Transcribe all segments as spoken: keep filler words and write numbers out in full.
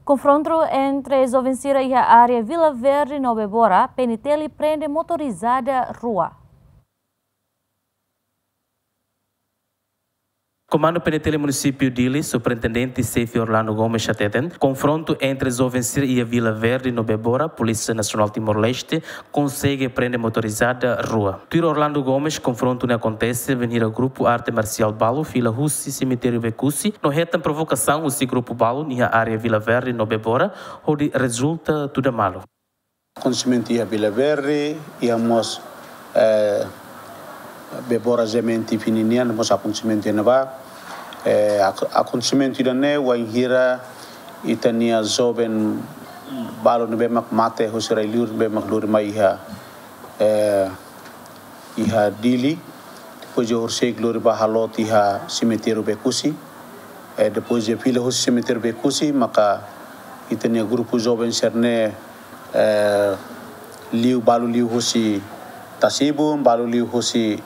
Konfrontu entre joven sira iha área Vila Verde no Bebora, P N T L prende motorizada rua. Komandu P N T L Munisípiu Dili, Superintendente Xefe Orlando Gomes hateten, konfrontu entre joven sira iha Vila Verde no Bebora, Polísia Nasionál Timor-Leste konsege prende motorizada rua. Tuir Orlando Gomes, konfrontu ne'e akontese bainhira grupu arte marsiál balu fila husi semitériu Becusse no hetan provokasaun husi grupu balu iha área Vila Verde no Bebora, hodi rezulta tuda malu. Akontesimentu iha Vila Verde, iha mós, eh, Bebora Zemen Tipi ninian, mós akontesimentu iha ne'ebá. Eh, ak-, akontesimentu ida-ne'e, wainhira ita-nia joven balu ne'ebé mak mate, husi rai-liur ne'ebé mak lori mai iha, eh, iha Dili, depois de horisehik lori ba haloot iha semitériu Becusse. Eh, depois de fila husi semitériu Becusse, maka ita-nia grupu joven sira-ne'e, eh, liu, balu liu husi Tasibun, balu liu husi,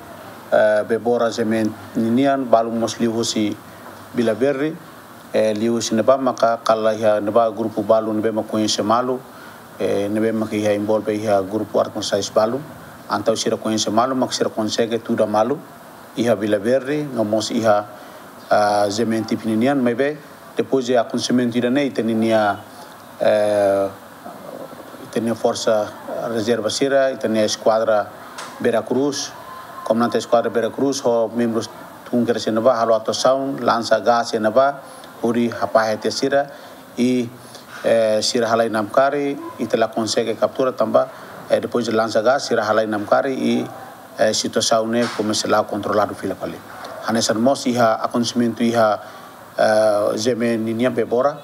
eh, Bebora Zemen ninian, balu mós liu husi Vila Verde. Eh, liu husi ne'ebá maka kala iha ne'ebá grupu balu ne'ebé mak koñese malu, eh, ne'ebé mak iha envolve iha grupu arte marsiál balu. Entaun sira koñese malu, mak sira konsege tuda malu iha Vila Verde, no mós iha, ah, Zemen Tipi ninian, maibé depois de akontesimentu ida-ne'e, ita-nia, eh, ita-nia forsa rezerva sira, ita-nia eskuadra Vera Cruz, komandante eskuadra Vera Cruz, ho membrus tun kedas iha ne'ebá, halo atuasaun, lansa gás iha ne'ebá, hodi hafahe tiha sira, i, eh, sira halai namkari, ita la konsege kaptura tanba, eh, depois de lansa gás, sira halai namkari, i, eh, situasaun ne'e komesa la'o kontroladu fila fali. Hanesan mós iha akontesimentu iha, eh, Zemen ninian Bebora,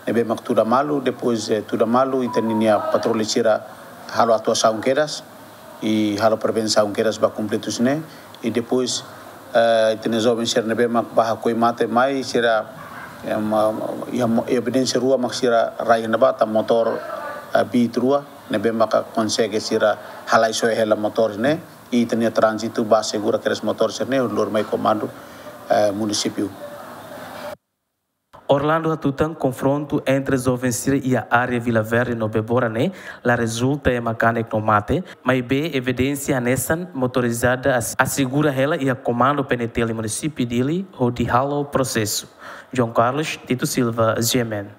ne'ebé mak tuda malu, depois, eh, tuda malu, ita-nia patrulla sira halo atuasaun kedas, i halo prevensaun kedas ba konflitus ne'e, i depois, eh, ita-nia joven sira ne'ebé mak bá hakoi mate mai sira, eh, ma-, iha mo-, evidénsia rua mak sira rai iha ne'ebá, tan motór, eh, Beat rua, ne'ebé maka konsege sira halai soe hela motór ne'e, i ita-nia tránzitu bá asegura kedas motór sira-ne'e, lori mai komandu, eh, munisípiu. Orlando hatutan konfrontu entre joven sira iha área Vila Verde no Bebora ne'e la rezulta ema kanek no mate, maibé evidénsia hanesan motorizada as-, asegura hela iha komandu P N T L Munisípiu Dili hodi halo prosesu. João Carlos Tito Silva, G M N.